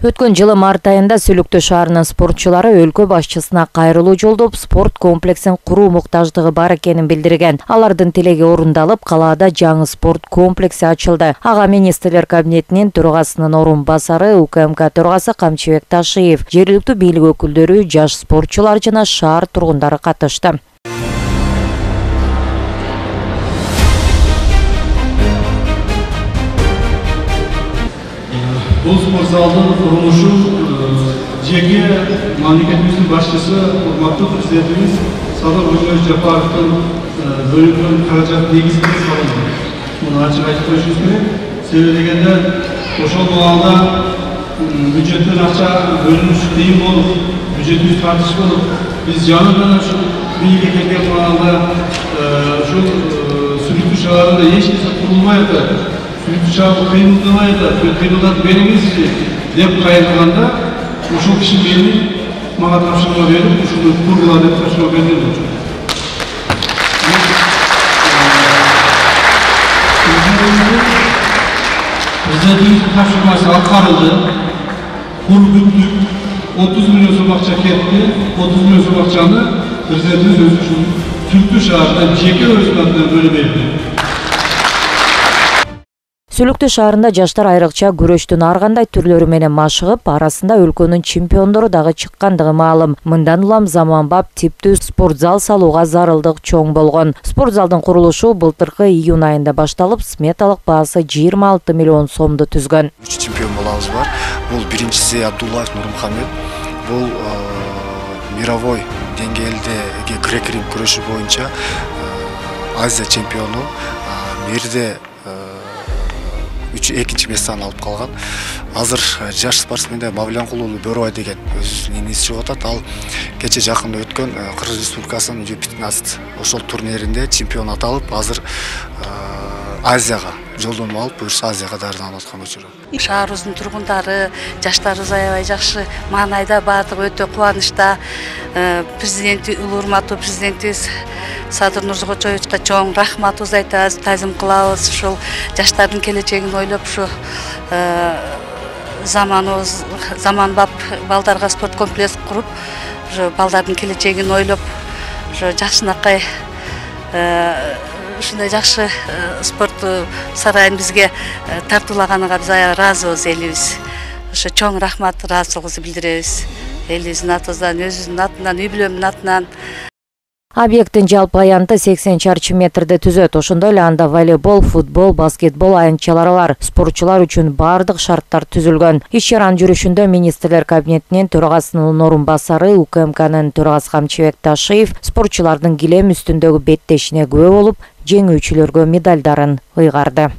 Өткөн жылы март айында Сүлүктүү шаарынын спортчулары өлкө башчысына кайрылуу жолдоп, спорт комплексин куруу муктаждыгы бар экенин билдирген. Алардын тилеги орундалып, калаада жаңы спорт комплекси ачылды. Ага министрлер кабинетинин төрагасынын орун басары УКМК төрагасы Камчыбек Ташиев, жергиликтүү бийлик өкүлдөрү, жаш спортчулар жана шаар тургундары катышты. Бұл спорт залдың құрылышы жеке мемлекетіміздің басшысы, урматтуу президентimiz Садыр Жапаровдун бөлүнгөн каражат негизинде салынды. Муну ачык айтып коюшубуз керек. Себеби дегенде ошол убагында бюджеттен акча бөлүнүш кыйын болуп, бюджетибиз тартыш болуп, биз жаңыдан ушу бийликке келген убагында ушул Сүлүктүү шаарында эч нерсе курулмай атат. Сүлүктүү шаары кыймылдабай атат, кыймылдатып бериңизчи деп кайрылганда, ошол киши мени мага тапшырма берип, ушуну кургула деп тапшырма берген. Президентимиздин тапшырмасы аткарылды. Кур бүттүк, 30 миллион сом акча кетти. 30 миллион сом акчаны президентimiz өзү ушул Сүлүктүү шаарында жеке өзүнүн атынан бөлүп берди. Сүлүктүү шаарында жаштар айрыкча күрөштүн ар кандай түрлөрү менен машыгып, арасында өлкөнүн чемпиондору дагы чыккандыгы маалым. Мындан улам заманбап типтүү спорт зал салууга зарылдык чоң болгон. Спорт залдын курулушу былтыркы июнь айында башталып, сметалык баасы 26 миллион сомду түзгөн. 3 чемпион болабыз бар. Бул биринчиси Абдуллаев Нурмухамед. Бул мировой деңгээлдеги грек-рим күрөшү боюнча Азия чемпиону. Мерде экинчи месттен алып калган. Азыр жаш спортсмендер Мавлянкулуулу Бөрөбай деген өзүнүн иниси чыгып атат. Ал кече жакында өткөн Кыргыз Республикасынын U15 ошол турниринде чемпион аталып, азыр Азияга жолдону алып, буюрса Азияга даярданып аткан учуру. Шаарыбыздын тургундары, жаштарыбыз аябай жакшы маанайда, баардыгы өтө кубанычта. Президенти, урматтуу президентибиз Садыр Нурзогочоевичке чоң рахматыбызды айтабыз, тазим кылабыз. Ушул жаштардын келечегин ойлоп, ушу заманбап балдарга спорт комплекс куруп, ушу балдардын келечегин ойлоп, ушу жакшынакай ушундай жакшы спорт сарайын бизге тартуулаганга биз аябай ыраазыбыз, элибиз. Ошо чоң рахмат, ыраазычылыгыбызды билдиребиз. Элибиздин атыбыздан, өзүбүздүн атынан, үй бүлөмдүн атынан. Объекттин жалпы аянты 80 чарчы метрди түзөт. Ошондой эле анда волейбол, футбол, баскетбол аянтчалары бар. Спортчулар үчүн бардык шарттар түзүлгөн. Иш-чаранын жүрүшүндө министрлер кабинетинин төрагасынын орун басары УКМКнын төрагасы Камчыбек Ташиев спортчулардын килем үстүндөгү беттешине күбө болуп, жеңүүчүлөргө медалдарын ыйгарды.